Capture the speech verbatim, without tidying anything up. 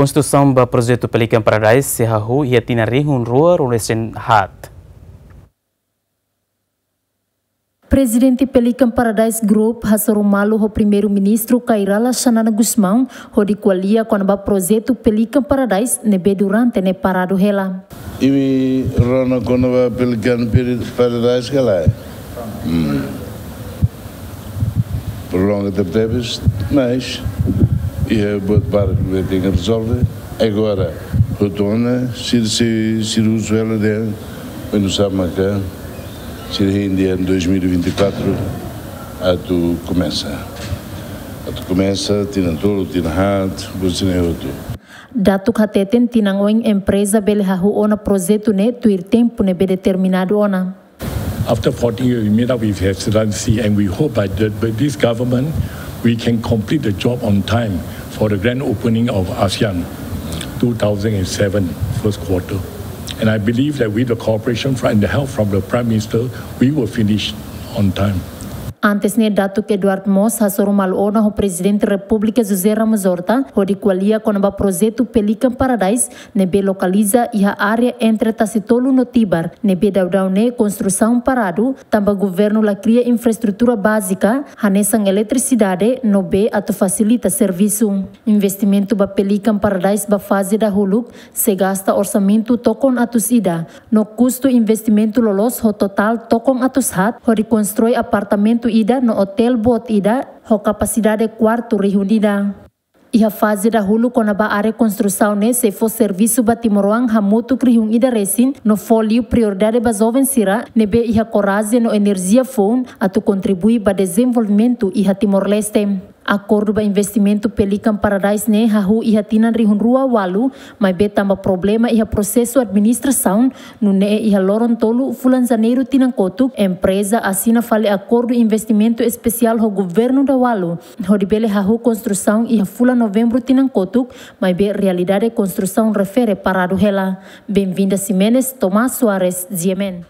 Konstrusaun ba projetu Pelican Paradise sei hahú iha tinan rihun rua ruanulu-resin-haat. Prezidente Pelican Paradise Group hasoru malu ho Primeiru-Ministru Kay Rala Xanana Gusmão hodi ko'alia kona-ba projetu Pelican Paradise ne'ebé durante ne'e paradu hela. Imi rona kona-ba Pelican Peri-, Paradise ka lae? Hmm. Prolonga tebetebes, mas iha buat barak ne'ebé tenke rezolve. Agora, hotu ona, sira, sira, sira husu hela dehan, oinsá maka, sira hein dehan dois mil e vinte e quatro atu komesa. Atu komesa, tinan tolu, tinan haat, buat sira-ne'e hotu. Datuk hateten tinan oin empreza bele hahú ona projetu ne'e tuir tempu ne'ebé determinadu ona. After fourteen years, we meet up with His Excellency, and we hope by the, by this government, we can complete the job on time for the grand opening of ASEAN two thousand and seven first quarter. And I believe that with the cooperation from, and the help from the Prime Minister, we will finish on time. Antes ne'e, Datuk Eduardo Moos hasoru malu ona ho Prezidente Repúblika José Ramos Horta hodi ko'alia kona-ba projetu Pelican Paradise ne'ebé lokaliza iha área entre Tasitolu no Tibar, ne'ebé daudaun ne'e konstrusaun paradu, tanba governu la kria infraestrutura bázika, hanesan eletrisidade no bee atu fasilita servisu. Investimentu ba Pelican Paradise ba faze dahuluk sei gasta orsamentu tokon atus ida, no kustu investimentu loloos ho totál tokon atus haat, hodi konstrui apartamentu ida no otél boot ida, ho kapasidade kuartu rihun ida. Iha faze dahuluk kona-ba área konstrusaun ne'e sei fó servisu ba timoroan hamutuk rihun ida resin, no fó liu prioridade ba joven sira ne'ebé iha korajen no enerjia foun atu kontribui ba dezenvolvimentu iha Timor-Leste. Akordu ba investimentu Pelican Paradise ne'e hahú iha tinan rihun rua ualu, maibé tanba problema iha prosesu administrasaun, nune'e iha loron tolu fulan Janeiru tinan kotuk, empreza asina fali akordu investimentu espesiál ho governu Dawalu, hodi bele hahú konstrusaun iha fulan Novembru tinan kotuk, maibé realidade konstrusaun refere paradu hela. Benvinda Ximenes, Tomás Soares, G M N.